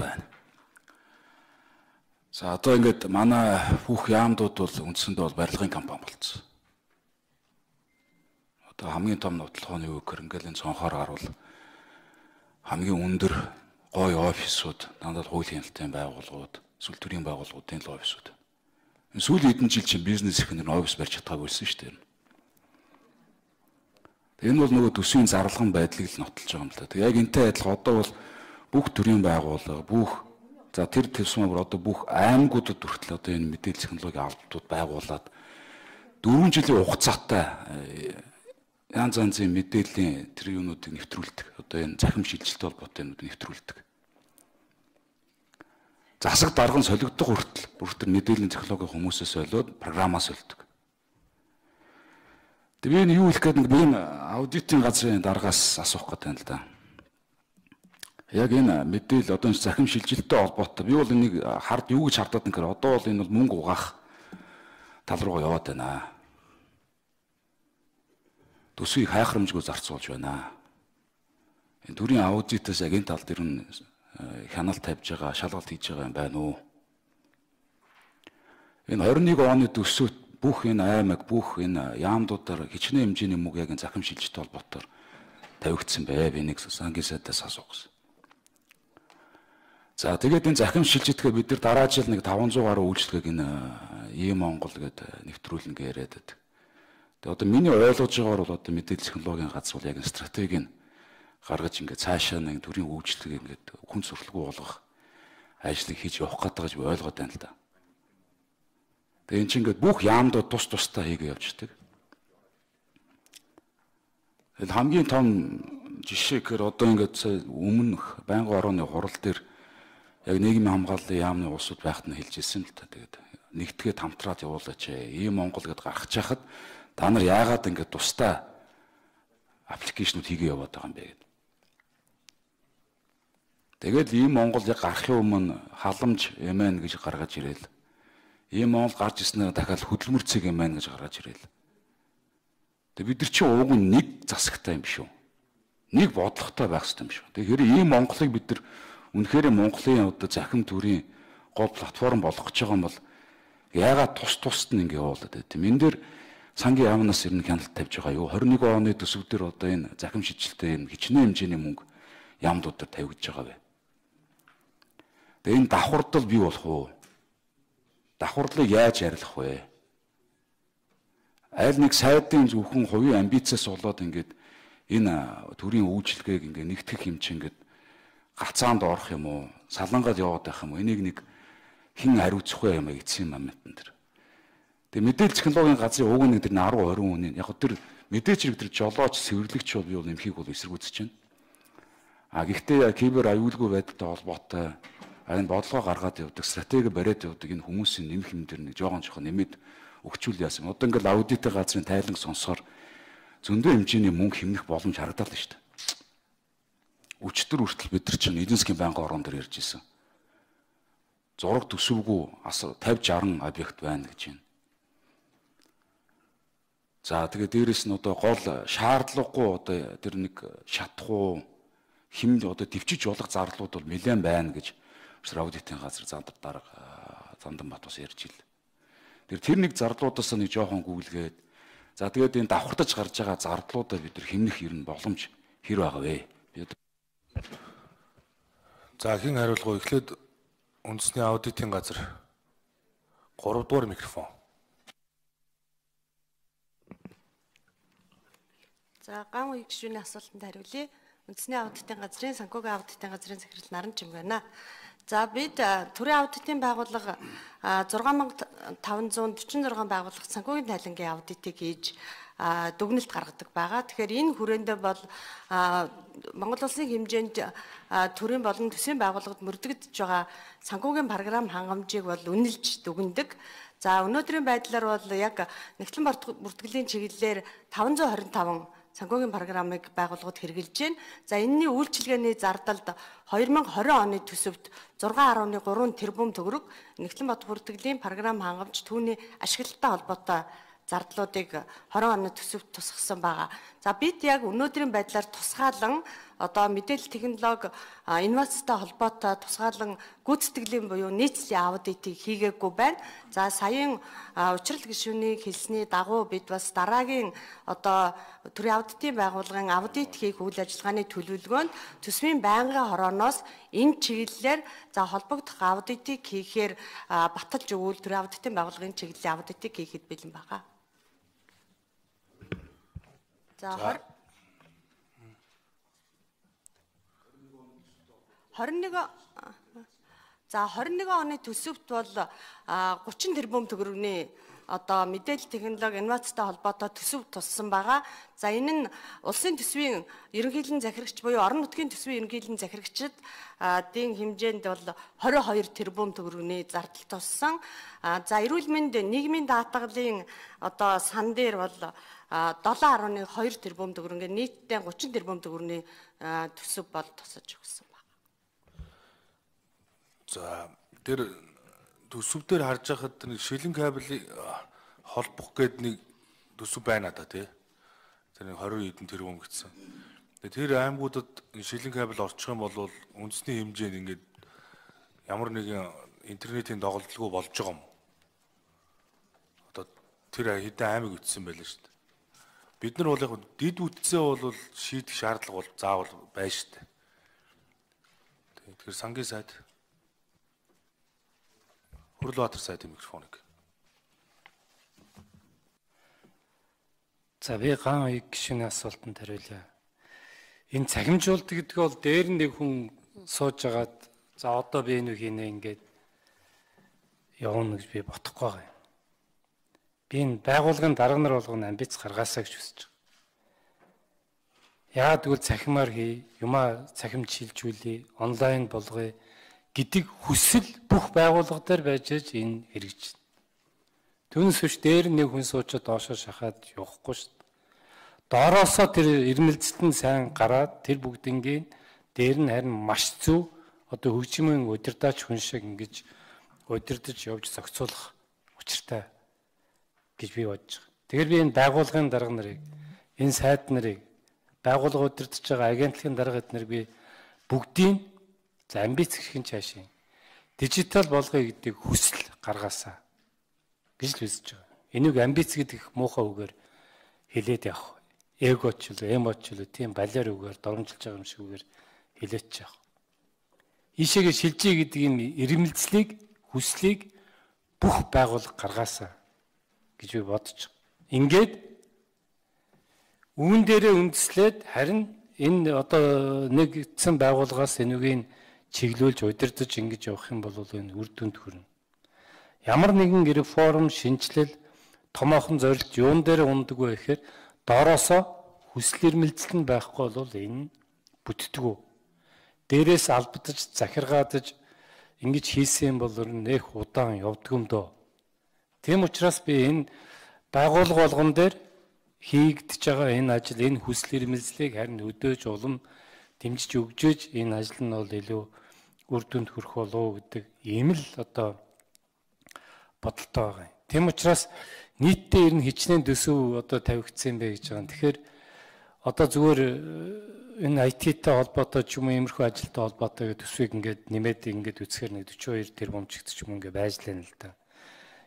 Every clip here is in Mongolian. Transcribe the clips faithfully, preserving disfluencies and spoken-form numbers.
байна. За одоо ингээд манай бүх яамдууд бол үндсэндээ бол барилгын компани болсон. Одоо хамгийн том нотлохооны үг гэрэнгэлийн цонхоор гарвал хамгийн өндөр гоё офисууд, дандаа хуулийн хяналтын байгууллагууд, эсвэл төрийн байгууллагуудын л офисууд. Энэ сүүлийн хэдэн жил чинь бизнес ихэнх нь офис барьж чадаагүй байсан шүү дээ. Энэ бол нөгөө төсвийн зарлахын байдлыг л нотолж байгаа юм л да. Тэг яг энтэй адилхан одоо бол бүх төрийн байгууллага, бүх за тэр төсвөөр одоо бүх аймагуудад хүртэл одоо энэ мэдээлэл технологийн албатууд байгуулад дөрвөн жилийн хугацаатай янз янзын мэдээллийн тэр юунуудыг нэвтрүүлдэг. Одоо энэ захим шилжилттэй холбоотой юмнуудыг нэвтрүүлдэг. Засаг дарга нь солигдох хүртэл бүр тэр мэдээллийн технологийн хүмүүсээс солиод програмаас солидог. Тэг би энэ юу хэлэх гээд нэг би энэ аудитын газрын даргаас асуух гэдэг юм л да. Яг энэ мэдээлэл одоо захим шилжилттэй холбоотой би бол энийг хард юу гэж хардаад нэхэр одоо бол энэ бол мөнгө угаах тал руугаа яваад байна. Төсвийг хайхрамжгүй зарцуулж байна. Энэ төрийн аудитаас яг энэ тал дээр нь хяналт тавьж байгаа, шалгалт хийж байгаа юм байна уу? Энэ двадцать and one оны төсөвт бүх энэ аймаг, бүх энэ яамдуудаар хичнээн хэмжээний мөнгө яг энэ захим шилжилттэй холбоотоор тавигдсан бай. Би нэг сангийн сайдаас асуусан. За тэгээд энэ захим шилжилтгээ бид нар дараа жил нэг five hundred гаруй үйлчлэгийг энэ E-Монгол гэдэг нэвтрүүлнэ гэж яриад байдаг. Тэгээд одоо миний ойлгож байгаагаар бол одоо мэдээлэл технологийн газар бол яг энэ стратегийг гаргаж ингээд цаашаа нэг төрийн үйлчлэгийг ингээд хүн сурталгүй болгох ажлыг хийж явах гэдэг гэж би ойлгоод байна л да. Тэгээд энэ чинь ингээд бүх яамдууд тус тустай хийгээ явждаг. Тэгээд хамгийн том жишээ гэхээр одоо ингээд өмнөх байнгын орооны хурал дээр яг нийгмийн хамгааллын яамны улсууд байхад нь хэлж ирсэн л та. Тэгээд нэгтгээд хамтраад явуулаач ээ. E-Монгол гэдээ гаргаж чахад та нар яагаад ингэж тусдаа аппликейшнууд хийгээ яваад байгаа юм бэ гэдэг. Тэгээд E-Монгол яг гарахын өмнө халамж эм эн гэж гаргаж ирээл. E-Монгол гарч ирснээр дахиад хөдөлмөр цэг эм эн гэж гаргаж ирээл. Тэгээд бид нар чинь уг нь нэг засагтай юм биш үү? Нэг бодлоготой байх хэрэгтэй юм шүү. Тэгэхээр E-Монголыг бид нар үнэхээр Монголын одоо захим төрийн гол платформ болгох гэж байгаа юм бол яагаад тус тусад нь ингэ явуулаад байт юм. Энэ дээр сангийн яамнаас ирнэ хяналт тавьж байгаа юу? twenty one оны төсөв дээр одоо энэ захим шилжилттэй энэ хичнээн хэмжээний мөнгө яамдууд дээр тавигдж байгаа бай. Тэгээ энэ давхардал бий болох уу? Давхардлыг яаж арилгах вэ? Аль нэг сайдын зөвхөн хувийн амбицаас болоод ингээд энэ төрийн үйлчлэгийг ингээд нэгтгэх хэмжээ ингээд гацаанд орох юм уу? Салангаад яваад байх юм уу? Энийг нэг хэн хариуцах вэ юм гэсэн юм амтан тэр. Тэгээ мэдээлэл технологийн газрын уг нэг тэр ten twenty үнийн яг тэр мэдээж хэрэг тэр жолооч цэвэрлэгч бол би бол нэмхийг бол эсэргүүцэж байна. А гэхдээ кибер аюулгүй байдалтай холбоотой энэ бодлого гаргаад явдаг, стратеги бариад явдаг энэ хүмүүсийн нэмэх юм дээр нэг жоохон жоохон нэмээд өгчүүл яасан. Одоо ингээл аудитын газрын тайлан сонсоор зөндөө хэмжээний мөнгө хэмнэх боломж харагдаад байна шүү дээ. Өчтөр хүртэл бид нар чинь эдийн засгийн байнгын орон дээр ярьж ирсэн. Зураг төсөвгүй fifty sixty объект байна гэж байна. За тэгээд дээрэс нь одоо гол шаардлагагүй одоо тэр нэг шатхуу хэмд одоо төвчж болох зарлууд бол нэлээд байна гэж аудитын газар зандар дарга Занданбат бас ярьж ил. Тэр тэр нэг зарлуудаас нэг жоохон гүйлгээд за тэгээд энэ давхартаж гарч байгаа зардлуудаа бид нар хэмнэх ер нь боломж хэр байгаа вэ? За хэн хариулах вэ? Эхлээд үндэсний аудитын газар three дугаар микрофон. За ган үе гишүүний асуултанд хариулъя. Үндэсний аудитын газрын санхүүгийн аудитын газрын захирал Наран Чим байна. За бид төрийн аудитын байгууллага six thousand five hundred forty-six байгууллагт санхүүгийн тайлангийн аудитыг хийж дүгнэлт гаргадаг байгаа. Тэгэхээр энэ хүрээндээ бол Монгол улсын хэмжээнд төрийн болон төсвийн байгууллагад мөрдөгдөж байгаа санхүүгийн програм хангамжийг бол үнэлж дүгнэдэг. За өнөөдрийн байдлаар бол яг нэгтлэн бүртгэлийн чиглэлээр five hundred twenty-five санхүүгийн програмыг байгууллагууд хэрэгжилж байна. За энэний үйлчилгээний зардалд twenty twenty оны төсөвт six point three тэрбум төгрөг нэгтлэн бот бүртгэлийн програм хангамж түүний ашиглалттай холбоотой зардлуудыг twenty оны төсөвт тусгасан байгаа. За бид яг өнөөдрийн байдлаар тусгаалan одоо мэдээлэл технологи инновацтай холбоотой тусгаалan гүйцэтгэлийн буюу нийцлийн аудитыг хийгээгүй байна. За саяын учрал гишүүний хэлсний дагуу бид бас дараагийн одоо төрийн аудитын байгууллагын аудит хийх үйл ажиллагааны төлөвлөгөөнд төсвийн байнгын хорооноос энэ чиглэлээр за холбогдох аудитыг хийхээр баталж өгвөл төрийн аудитын байгууллагын чиглэлийн аудитыг хийхэд бэлэн байгаа. За хорин нэг за хорин нэгэн оны төсөвт бол гучин тэрбум төгрөгийн одоо мэдээлэл технологи инновацтай холбоотой төсөв туссан байгаа. За энэ нь улсын төсвийн ерөнхийлөн захирагч буюу орон нутгийн төсвийн ерөнхийлөн захирагчид дийн хэмжээнд бол хорин хоёр тэрбум төгрөгийн зардал туссан. За эрүүл мэнд нийгмийн даатгалын одоо сан дээр бол долоон гаруй хоёр тэрбум төгрөгийн нийтдээ гучин тэрбум төгрөгийн төсөв бол тусаж өгсөн байна. За тэр төсөв дээр харж байхад нэг шилэн кабель холбох гээд нэг төсөв байна да тий. Тэр нэг двадцать хэдэн тэрбум гэсэн. Тэр аймагуудад шилэн кабель орчих юм бол үндэсний хэмжээнд ингээд ямар нэгэн интернетийн доголдолгүй болж байгаа юм. Одоо тэр хэдэн аймаг үтсэн байлаа шүү дээ. Бид нар бол яг дид үтсээ бол шийдэх шаардлага бол заавал байна шүү дээ. Тэгэхээр сангийн сайд Хүрлбаатар сайдын микрофоныг. За би ган аяг гишүүний асуултанд хариулъя. Энэ цахимжуулт гэдэг бол дээр нэг хүн сууж агаад за одоо би энэ хийнэ ингээд явна гэж би бодохгүй байгаа юм. Би энэ байгууллагын дарга нар болгоно амбиц гаргаасаа гэж хүсэж байгаа. Яагаад гэвэл цахимаар хий, юмаа цахимж шилжүүлээ, онлайн болгоё гэдэг хүсэл бүх байгууллага дээр байж аж энэ хэрэгжинэ. Түүнээс биш дээр нэг хүн суучаад доошоо шахаад явахгүй шүү дээ. Доороосоо тэр ирмэлцэлт нь сайн гараад тэр бүгднгийн дээр нь харин маш зөв одоо хөгжмийн удирдаач хүн шиг ингэж удирдах явж зохицуулах учиртай гэж би бодож байгаа. Тэгэхээр би энэ байгууллагын дарга нарыг, энэ сайд нарыг, байгууллага удирдах байгаа агентлагын дарга эднэрийг би бүгдийг за амбиц гэх чаашийн дижитал болгоё гэдэг хүсэл гаргаасаа гэж л үзэж байгаа. Энийг амбиц гэдэг муухай үгээр хэлээд явах. Эгоч л, эмоч л тийм балиар үгээр дормжилж байгаа юм шиг үгээр хэлээч явах. Ишээгээ шилжээ гэдэг энэ ирмэлцлийг, хүслийг бүх байгууллага гаргаасаа гэж би бодож байгаа. Ингээд үүн дээрээ үндэслээд харин энэ одоо нэгдсэн байгууллагаас энэгийг чиглүүлж удирдах ингэж явах юм бол энэ үр дүнд хүрнэ. Ямар нэгэн реформ, шинжилэл, томоохон зорилт юун дээр ундаг вэ гэхээр доороосоо хүсэл эрмэлзэл нь байхгүй бол энэ бүтдэггүй. Дээрээс албадаж, захиргаадаж ингэж хийсэн бол нэх удаан явдаг юм дөө. Тийм учраас би энэ байгууллага болгон дээр хийгдэж байгаа энэ ажил, энэ хүсэл эрмэлзлийг харин өдөөж улам дэмжиж өгжөөж энэ ажил нь бол илүү үр дүнд хүрэх болов гэдэг ийм л одоо бодолтой байгаа юм. Тийм учраас нийтдээ ер нь хичнээн төсөв одоо тавигдсан бэ гэж байгаа. Тэгэхээр одоо зүгээр энэ ай ти-тэй холбоотой ч юм уу иймэрхүү ажилтай холбоотой төсвийг ингээд нэмээд ингээд үзэхээр нэг forty-two тэрбум ч гэдэг ч юм ингээд байж лээ л да.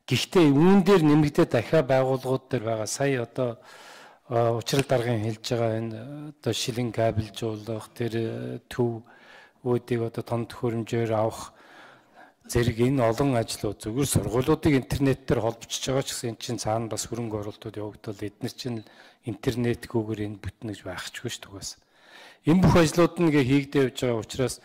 Гэхдээ үүн дээр нэмэгдээ дахиад байгууллагууд дээр байгаа сая одоо учрал даргын хэлж байгаа энэ одоо шилэн кабелжуулах тэр төв үүдийг одоо том төхөөрөмжөөр авах зэрэг энэ олон ажлууд зөвхөн сургуулиудыг интернетээр холбогдож байгаа ч гэсэн энэ чинь цаана бас хөрөнгө оруулалтууд явагдвал эдгээр чинь интернетгүйгээр энэ бүтнэ гэж байхчгүй шүү дээ. Энэ бүх ажлууд нэгэ хийгдэж явж байгаа учраас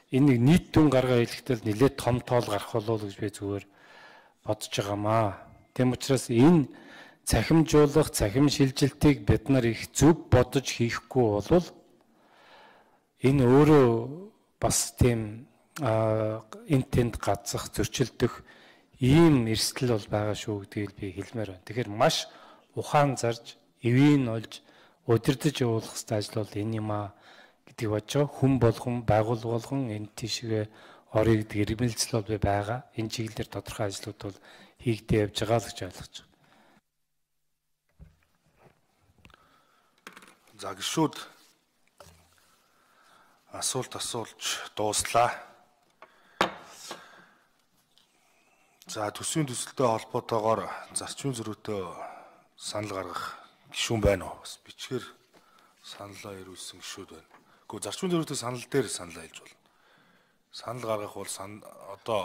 энэ нэг нийт дүн гаргаа хэлэхдээ нэлээд том тоол гарах болов гэж би зүгээр бодож байгаамаа. Тэм учраас энэ цахимжуулах, цахим шилжилтийг бид нар их зөв бодож хийхгүй бол энэ өөрөө бас тийм энтэнд гацах, зөрчилдөх ийм эрсдэл бол байгаа шүү гэдгийг би хэлмээр байна. Тэгэхээр маш ухаан зарж, эвийн олж, удирдах явуулах хэвээр ажил бол энэ юм аа гэдгийг бодож байгаа. Хүн болгон, байгууллага болгон энэ тийшээ орё гэдэг ирмэлзэл бол байгаа. Энэ чиглэлээр тодорхой ажлууд бол хийгдэж явж байгаа л гэж ойлгож байна. За гişүүд асуулт асуулж дууслаа. За төсвийн төсөлтөй холбоотойгоор зарчмын зөрүүтэй санал гаргах гишүүн байна уу? Бас бичгээр саналаа ирүүлсэн гишүүд байна. Гэхдээ зарчмын зөрүүтэй санал дээр санал айлж болно. Санал гаргах бол одоо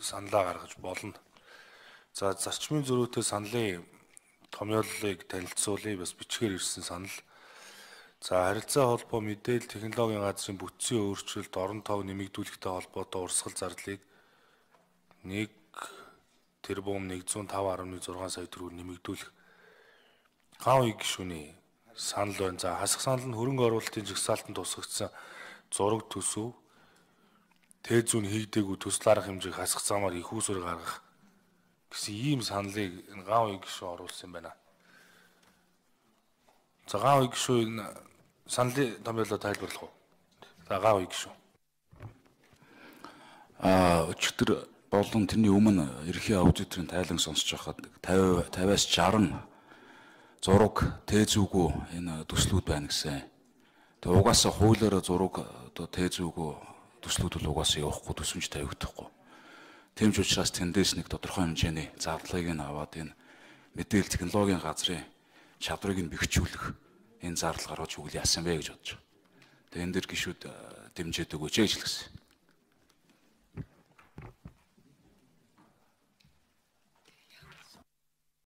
саналаа гаргаж болно. За зарчмын зөрүүтэй саналын томьёоллыг танилцуулъя, бас бичгээр ирсэн санал. За харилцаа холбоо мэдээлэл технологийн газрын бүтцийн өөрчлөлт орон тов нэмэгдүүлэхтэй холбоотой урсгал зардлыг нэг тэрбум нэгдүгээр тавь гаруй зургаан сая төгрөгөөр нэмэгдүүлэх гав иг гишүүний санал байна. За хасах санал нь хөрөнгө оруулалтын жагсаалтанд тусгагдсан зураг төсөв тээ зүүн хийгдээгүй төсөл арга хэмжээг хасах замаар их усүр гаргах гэсэн ийм саналыг гав иг гишүүн оруулсан байна. За гав иг гишүүн саналын томьёолоо тайлбарлах уу? За гав иг гишүүн. Аа өчигдөр болон тэрний өмнө ерхий аудиторын тайлан сонсож байхад пचास пचास шестьдесят зураг тээзүүгөө энэ төслүүд байна гэсэн. Тэгээ угаасаа хуулиараа зураг одоо тээзүүгөө төслүүд бол угаасаа явахгүй төсөмж тавигдахгүй. Тэмч учраас тэндээс нэг тодорхой хэмжээний зардлыг нь аваад энэ мэдээлэл технологийн газрын чадварыг нь бэхжүүлэх энэ зардал гаргаж өгөл яасан бэ гэж бодож байгаа. Тэгээ энэ дэр гишүүд дэмжиж өгөөч гэж хэлсэн.